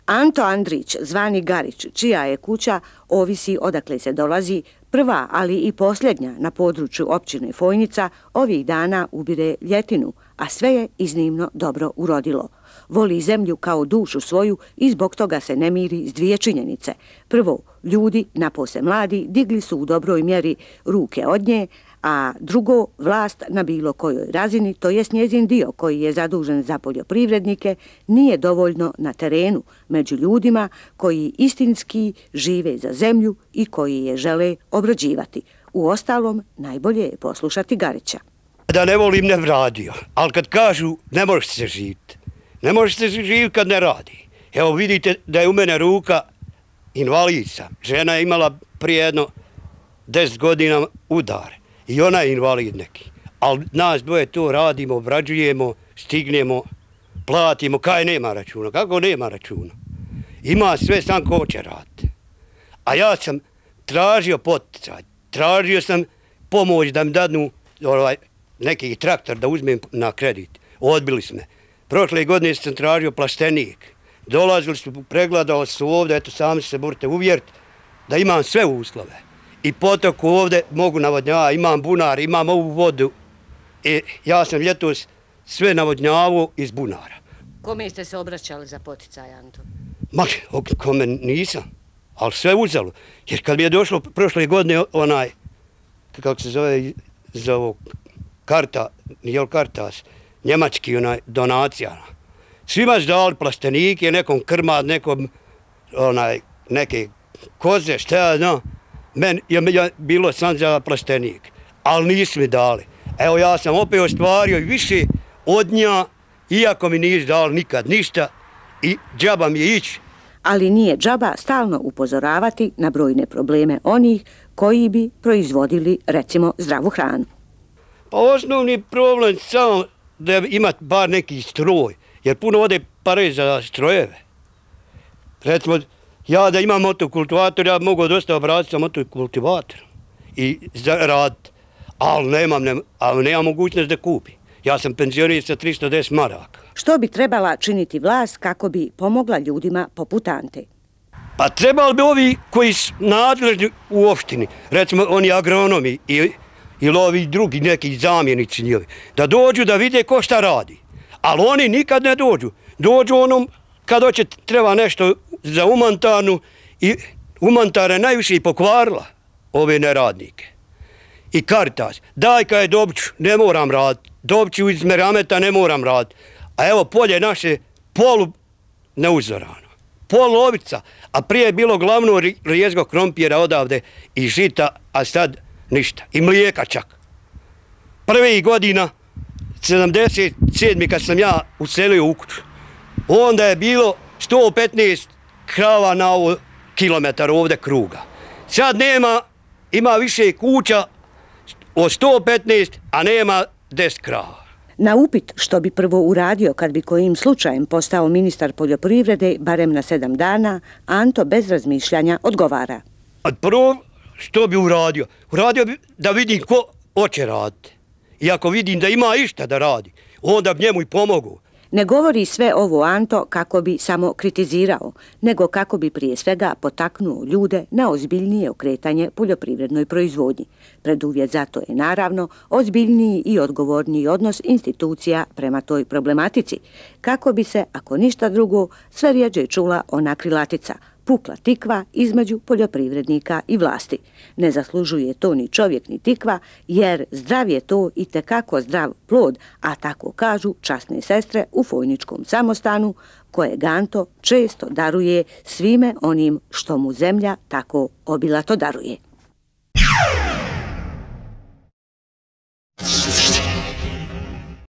Anto Andrić, zvani Garić, čija je kuća, ovisi odakle se dolazi, prva, ali i posljednja na području općine Fojnica, ovih dana ubire ljetinu, a sve je iznimno dobro urodilo. Voli zemlju kao dušu svoju i zbog toga se ne miri s dvije činjenice. Prvo, ljudi, napose mladi, digli su u dobroj mjeri ruke od nje, a drugo, vlast na bilo kojoj razini, to jest njezin dio koji je zadužen za poljoprivrednike, nije dovoljno na terenu među ljudima koji istinski žive za zemlju i koji je žele obrađivati. Uostalom, najbolje je poslušati Garića. Da ne volim ne radio, ali kad kažu ne možeš se živjeti. Ne možeš se živjeti kad ne radi. Evo vidite da je u mene ruka invalidca. Žena je imala prije jedno 10 godina udar. I ona je invalid neki. Ali nas dvoje to radimo, obrađujemo, stignemo, platimo. Kaj nema računa? Kako nema računa? Ima sve, sam ko će raditi. A ja sam tražio poticaj. Tražio sam pomoć da mi dadnu neki traktor da uzmem na kredit. Odbili su me. Prošle godine sam tražio plastenik. Dolazili su, pregledali su ovdje, eto sami se morate uvjeriti da imam sve uslove. I potok ovdje mogu navodnjavati, imam bunar, imam ovu vodu. I ja sam ljetos sve navodnjavao iz bunara. Kome ste se obraćali za poticaj, Anto? Ma, kome nisam, ali sve uzelo. Jer kad mi je došlo prošle godine kako se zove, Kartas, njemački donacija. Svima su dali plastenike, nekom krmad, nekom neke koze, šta ja znam. Meni je bilo sam za plastenik, ali nisu mi dali. Evo ja sam opet ostvario i više od nja, iako mi nisu dali nikad ništa i džaba mi je ići. Ali nije džaba stalno upozoravati na brojne probleme onih koji bi proizvodili, recimo, zdravu hranu. Pa osnovni problem je samo da imati bar neki stroj, jer puno ode pare za strojeve. Recimo, ja da imam motokultivator, ja bi mogao dosta obratiti sa motokultivatorom i raditi, ali nemam mogućnost da kupi. Ja sam penzioner sa 310 maraka. Što bi trebala činiti vlast kako bi pomogla ljudima poput Ante? Pa trebali bi ovi koji su nadležni u opštini, recimo oni agronomi ili ovi drugi neki zamjenici njihovi, da dođu da vide ko šta radi. Ali oni nikad ne dođu. Dođu onom kad treba nešto za umantarnu i umantara je najviše i pokvarila ove neradnike. I Caritas, daj kad je Dobiću, ne moram raditi. Dobiću iz Merameta ne moram raditi. A evo polje naše polu neuzorano. Pol lovica, a prije je bilo glavno rijezgo krompira odavde i žita, a sad ništa. I mlijeka čak. Prvih godina, 77. kad sam ja uselio u kuću, onda je bilo 115 krava na ovo kilometar ovdje kruga. Sad nema, ima više kuća od 115, a nema 10 krava. Na upit što bi prvo uradio kad bi kojim slučajem postao ministar poljoprivrede, barem na 7 dana, Anto bez razmišljanja odgovara. Prvo što bi uradio? Uradio bi da vidim ko hoće raditi. I ako vidim da ima išta da radi, onda bi njemu i pomogu. Ne govori sve ovo Anto kako bi samo kritizirao, nego kako bi prije svega potaknuo ljude na ozbiljnije okretanje poljoprivrednoj proizvodnji. Preduvjet za to je naravno ozbiljniji i odgovorniji odnos institucija prema toj problematici, kako bi se, ako ništa drugo, sve rjeđe čula ona krilatica, pukla tikva između poljoprivrednika i vlasti. Ne zaslužuje to ni čovjek ni tikva, jer zdrav je to i tekako zdrav plod, a tako kažu časne sestre u Fojničkom samostanu, koje Anto često daruje svime onim što mu zemlja tako obilato daruje.